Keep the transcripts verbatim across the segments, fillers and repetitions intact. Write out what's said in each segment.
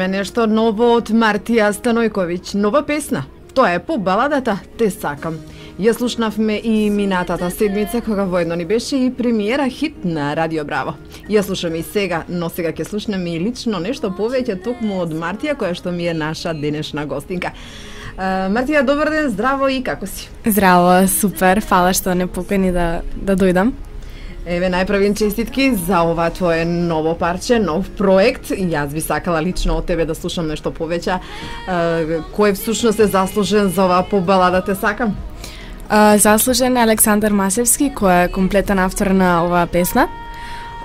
Нешто ново од Мартија Станојковиќ, нова песна. Тоа е по баладата Те сакам. Ја слушнавме и минатата седмица кога воедно ни беше и премиера хит на Радио Браво. Ја слушаме и сега, но сега ќе слушнеме и лично нешто повеќе токму од Мартија, која што ми е наша денешна гостинка. Uh, Мартија, добар ден, здраво и како си? Здраво, супер, фала што не покани да, да дојдам. Еве, најправим честитки за ова твое ново парче, нов проект. Јас би сакала лично од тебе да слушам нешто повеќе. Uh, кој всушност е заслужен за ова по балада Те сакам? Uh, заслужен е Александар Масевски, кој е комплетен автор на оваа песна.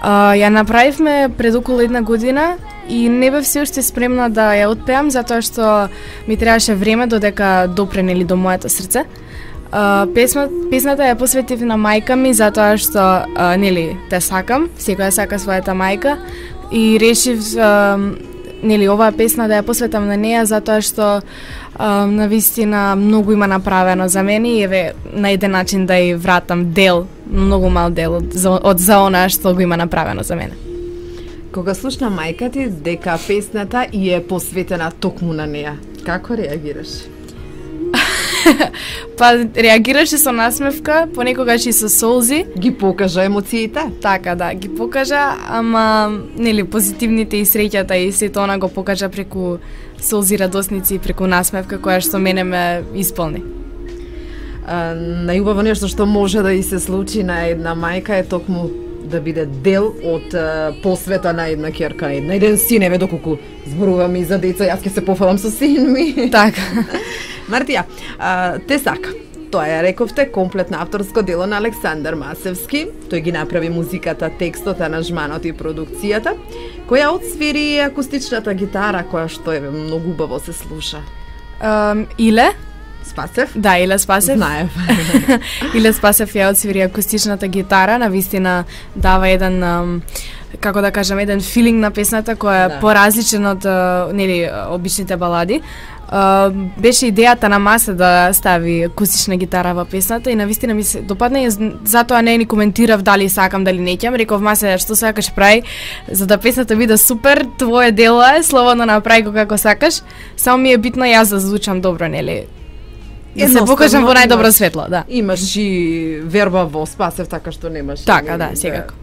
Uh, ја направивме пред околу една година и не бев се уште спремна да ја отпеам, затоа што ми требаше време додека допре нели до моето срце. Uh, песма, песната ја посветив на мајка ми, затоа што uh, нели те сакам, секоја сака својата мајка и решив uh, нели оваа песна да ја посветам на неја, затоа што uh, навистина многу има направено за мене и еве на еден начин да ја вратам дел, многу мал дел од, од за она што го има направено за мене. Кога слушна мајка ти дека песната и е посветена токму на неја, како реагираш? Па реагираше со насмевка, понекогаш и со солзи. Ги покажа емоциите? Така, да, ги покажа, ама нели позитивните и среќата и сето она го покажа преку солзи радосници и преку насмевка која што мене ме исполни. А, најубаво нешто што може да и се случи на една мајка е токму да биде дел од а, посвета на една ќерка, на една еден син, еве доколку зборуваме и за деца, јас ќе се пофалам со син ми. Така. Мартија, а, Те сакам. Тоа ја рековте комплетно авторско дело на Александар Масевски. Тој ги направи музиката, текстот, аранжманот и продукцијата, која отсвири акустичната гитара, која што е многу убаво се слуша. Um, Иле? Спасев? Да, Иле Спасев. Знаев. Иле Спасев ја отсвири акустичната гитара, навистина дава еден, um, како да кажам, еден филинг на песната која е да. Поразличен од нели обичните балади. Uh, беше идејата на Масе да стави акустична гитара во песната и навистина ми се допадна и затоа не ни коментирав дали сакам, дали не ќам. Реков Масе, што сакаш прави, за да песната биде супер, твое дело е, слободно направи го како сакаш, само ми е битно јас да звучам добро, нели? Да се покажам во најдобро светло, да. Имаш и верба во Спасев, така што немаш. Така, да, секако.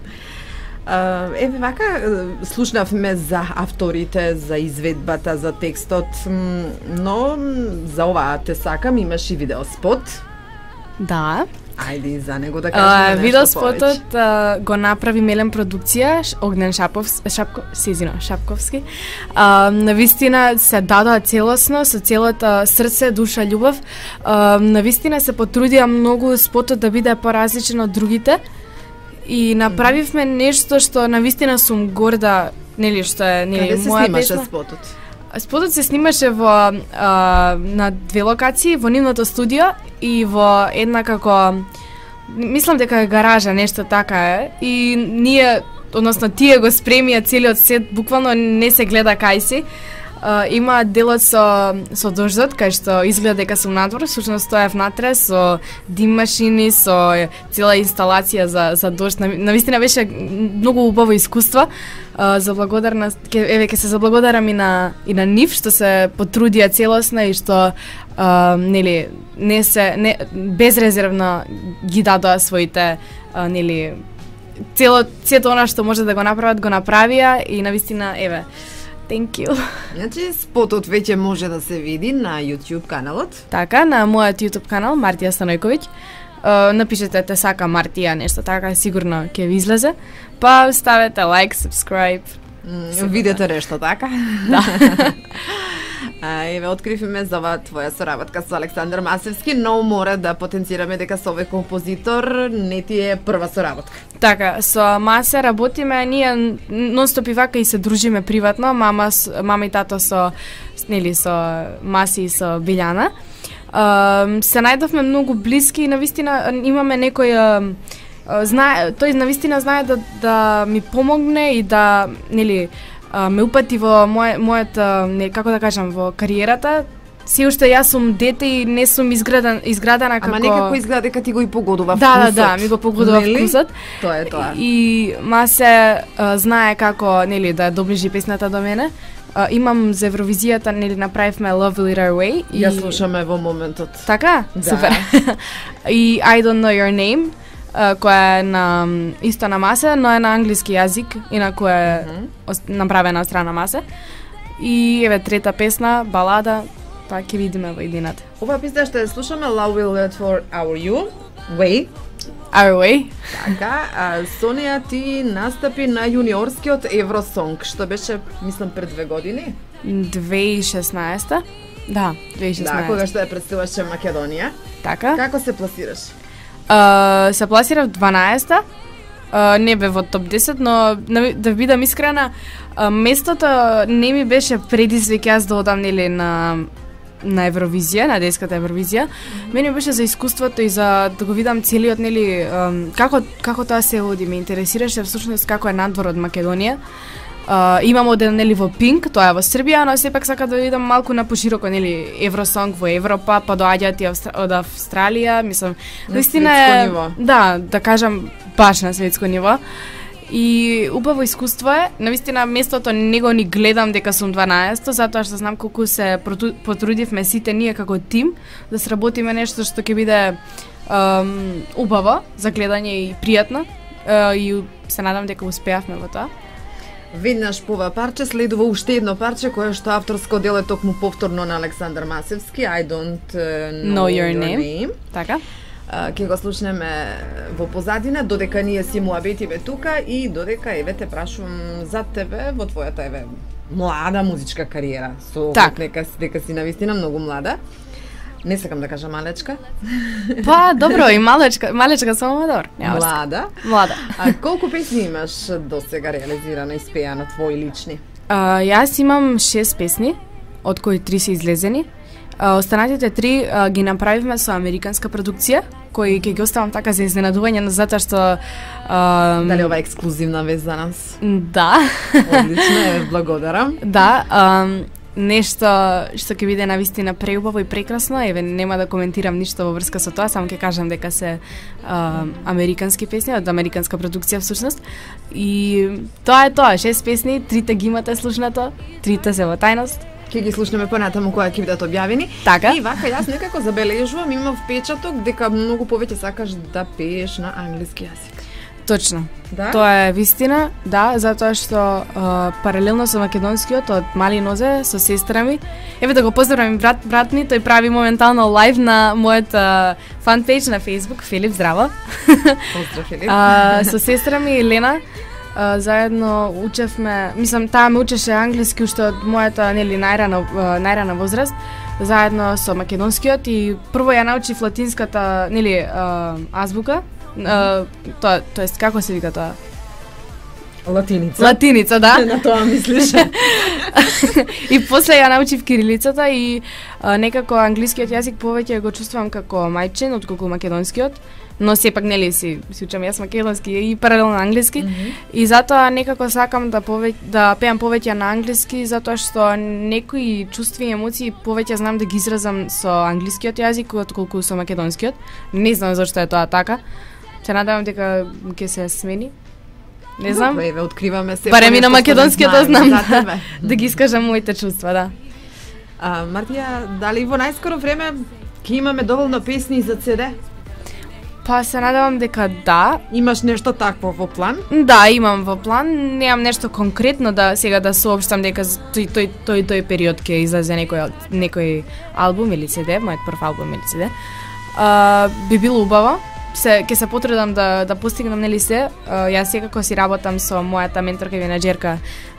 Uh, еве вака слушнавме за авторите, за изведбата, за текстот, но за оваа Те сакам имаш и видеоспот. Да. Ајде за него да кажеме uh, нешто видеоспотот uh, го направи Мелен продукција, Огнен Шаповски, Шапко, Сезино Шапковски. Uh, навистина се дадоа целосно, со целото срце, душа, љубов. Uh, навистина се потрудија многу спотот да биде поразличен од другите. И направивме нешто што навистина сум горда, нели што е нели моја песна. Каде се снимаше спотот? Спотот се снимаше во а, на две локации, во нивното студио и во една како мислам дека е гаража, нешто така е. И ние, односно тие го спремија целиот сет, буквално не се гледа кај си. Uh, има делот со, со дождот, кај што изгледа дека сум надвор, всушност стоев натре со дим машини, со цела инсталација за, за дожд. Навистина беше многу убаво искуство. Uh, за благодарна, ке, еве, ке се заблагодарам и на, и на нив, што се потрудија целосно и што uh, нели, не се, не, безрезервно ги дадоа своите, uh, нели, цело, цето она што може да го направат, го направија и навистина, еве, thank you. Значи, спотот веќе може да се види на YouTube каналот. Така, на мојот YouTube канал, Мартија Станојковиќ. Uh, напишете Те сака Мартија, нешто така, сигурно ќе ви излезе. Па ставете лайк, subscribe. Mm, видете нешто така? Да. А, еве, откривме за оваа твоја соработка со Александар Масевски, но мора да потенцираме дека со овој композитор не ти е прва соработка. Така, со Масе работиме, ние нонстоп и вака и се дружиме приватно, мама, мама и тато со, нели, со Маси и со Билјана. Uh, се најдовме многу блиски и навистина имаме некој uh, знае, тој навистина знае да, да ми помогне и да, нели, uh, ме упати во мој, мојот, uh, како да кажам, во кариерата. Се уште јас сум дете и не сум изграден, изградена како... Ама некако изгледа дека ти го и погодува да, вкусот. Да, да, ми го погодува нели? Вкусот. Тоа е тоа. И Масе uh, знае како, нели, да доближи песната до мене. а, имам за Евровизијата, нели направивме Love Will Lead Our Way и ја слушаме во моментот. Така? Да. Супер. И I Don't Know Your Name, а, која е на исто на Масе, но е на англиски јазик, инаку е mm -hmm. направена од страна Масе. И еве трета песна, балада, па ќе видиме во едината. Оваа песна ще слушаме Love Will Lead for Our You Way. Our Way. Така, а Сонија ти настапи на јуниорскиот Евросонг, што беше, мислам, пред две години. две тисячи и шеснаесета. Да, две тисячи и шеснаесета. Да, кога што ја представуваше Македонија. Така. Како се пласираш? Uh, се пласирав дванаесета. Uh, не бе во топ десет, но да бидам искрена, uh, местото не ми беше предизвик јас да одам нели на на Евровизија, на детската Евровизија. Mm -hmm. Мене беше за искуството и за да го видам целиот нели um, како како тоа се води, ме интересираше всушност како е надвор од Македонија. Uh, имам оден нели во Пинк, тоа е во Србија, но сепак сака да видам малку на пошироко нели Евросонг во Европа, па доаѓаат и Австра... од Австралија, мислам, наистина е ниво. Да, да кажам баш на светско ниво. И убаво искуство е, навистина местото не го ни гледам дека сум дванаесето, затоа што знам колку се потрудивме сите ние како тим да сработиме нешто што ќе биде um, убаво за гледање и пријатно. Uh, и се надам дека успеавме во тоа. Веднаш по ова парче следува уште едно парче кое што авторско дел е токму повторно на Александар Масевски, I Don't uh, Know, know Your, your name. name. Така. Uh, ке го слушнеме во позадина, додека ние си муабетиве тука и додека еве те прашувам за тебе во твојата еве млада музичка кариера. Со так. Нека дека си навистина многу млада. Не сакам да кажам малечка. Па, добро, и малечка, малечка само добро. Млада. Млада. А колку песни имаш досега реализирано и спејано твои лични? А, јас имам шест песни, од кои три се излезени. А, останатите три а, ги направивме со американска продукција, кои ќе ги оставам така за изненадување, но затоа што а, дали ова е ексклузивна вест за нас? Да. Одлично, е, благодарам. Да, а, нешто што ќе биде навистина преубаво и прекрасно, еве нема да коментирам ништо во врска со тоа, само ќе кажам дека се а, американски песни од американска продукција всушност. И тоа е тоа, шест песни, трите ги имате слушнато, трите се во тајност. Ќе ги слушнеме понатаму кога ќе бидат објавени. Така. И вака јас некако забележувам, имам впечаток дека многу повеќе сакаш да пееш на англиски јазик. Точно. Да? Тоа е вистина, да, затоа што а, паралелно со македонскиот од мали нозе со сестра ми. Еве да го поздравам брат брат ми, тој прави моментално лайв на мојот фан пејдж на Facebook, Филип, здраво. Поздрав, Филип. А, со сестра ми Елена а, заедно учевме, мислам таа ме учеше англиски уште од мојата нели најрана најрана возраст, заедно со македонскиот и прво ја научив латинската нели а, азбука. Uh, тоа, тоест, како се вика тоа? Латиница. Латиница, да. На тоа мислиш. И после ја научив кирилицата и а, некако англискиот јазик повеќе го чувствувам како мајчин отколку македонскиот, но сепак нели си си учам јас македонски и паралелно англиски. Mm -hmm. И затоа некако сакам да повеќе да пеам повеќе на англиски, затоа што некои чувства и емоции повеќе знам да ги изразам со англискиот јазик отколку со македонскиот. Не знам зашто е тоа така. Се надевам дека ќе се смени. Не знам. Добре, еве откриваме се. Барем и на македонскиот да знам да, да ги искажам моите чувства, да. А, Мартија, дали во најскоро време ќе имаме доволно песни за си ди? Па се надевам дека да. Имаш нешто такво во план? Да, имам во план. Немам нешто конкретно да сега да соопштам дека тој тој тој тој период ќе излезе некој некој албум или си ди, мојот прв албум или си ди. А, би било убаво. Се ќе се потрудам да да постигнам нели се. Uh, јас секако си работам со мојата менторка и менаџерка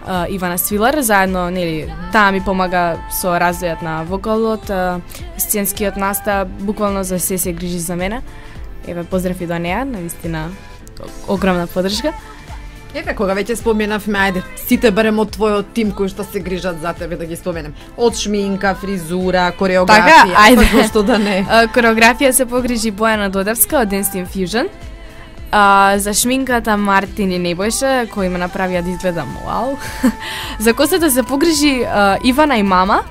uh, Ивана Свилар, заедно нели таа ми помага со развојот на вокалот, uh, сценскиот настап, буквално за се се грижи за мене. Еве поздрав и до неа, навистина огромна поддршка. Еве, кога веќе споменавме, ајде, сите барем од твојот тим кои што се грижат за тебе да ги споменем. Од шминка, фризура, кореографија, така, ајде. па што да не. Uh, кореографија се погрижи Бојана Додевска од Dance Team Fusion. Uh, за шминката Мартин и Небојша, кои ме направија да изгледам вау. За косата се погрижи uh, Ивана и мама.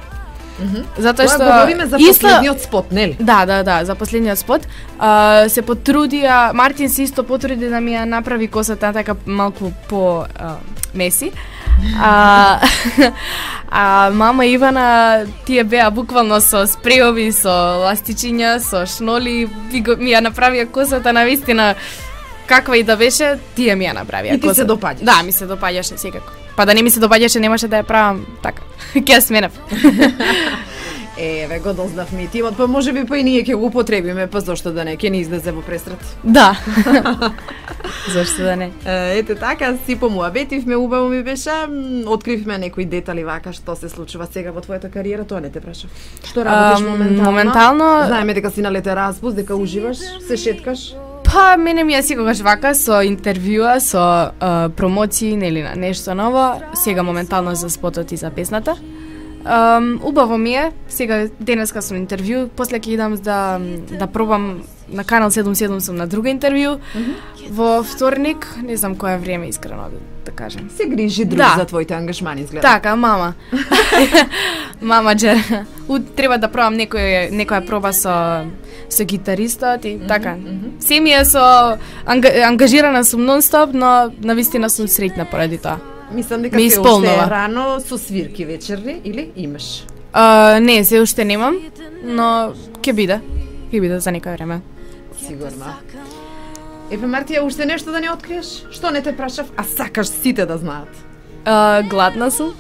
Mm -hmm. Затоа што говориме за исто... последниот спот, нели? Да, да, да, за последниот спот. Uh, се потрудија, Мартин се исто потруди да ми ја направи косата така малку по uh, меси. А, а мама Ивана тие беа буквално со спреови, со ластичиња, со шноли, ми, го, ми ја направија косата навистина каква и да беше, тие ми ја направија. И ти се допаѓаш? Да, ми се допаѓаше секако. Па да не ми се допаѓаше, немаше да ја правам така. Ќе ја сменав. Еве, го дознавме и тимот, па може би па и ние ќе го употребиме, па зошто да не, ќе ни излезе во пресрет. Да. Зошто да не? Ете така, си помуабетивме, убаво ми беше, откривме некои детали вака што се случува сега во твојата кариера, тоа не те прашав. Што работиш Um, моментално? моментално- Знаеме дека си на лете распуст, дека уживаш, се шеткаш. Па, мене ми е секогаш вака, со интервјуа, со а, промоции, нели на нешто ново, сега моментално за спотот и за песната. Um, убаво ми е, сега денеска сум интервју, после ќе идам да, да пробам на Канал седум седум сум на друго интервју, mm -hmm. во вторник, не знам која време искрено да, да кажем. Се грижи друг Да. за твоите ангажмани, изгледа. Така, мама. Мама Джер. У, треба да пробам некој, некоја проба со со гитаристот и така. Се ми е со анга, ангажирана сум нон-стоп, но навистина сум среќна поради тоа. Мислам дека Ме се уште исполнува. е рано со свирки вечерни или имаш? Uh, не, се уште немам, но ќе биде. Ќе биде за некој време. Сигурно. Еве Мартија, уште нешто да не откриеш? Што не те прашав, а сакаш сите да знаат? Uh, гладна сум.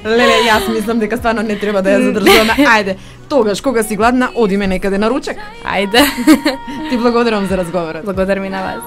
Леле, јас мислам дека стварно не треба да ја задржуваме. Ајде, тогаш кога си гладна, одиме некаде на ручек. Ајде. Ти благодарам за разговорот. Благодарам и на вас.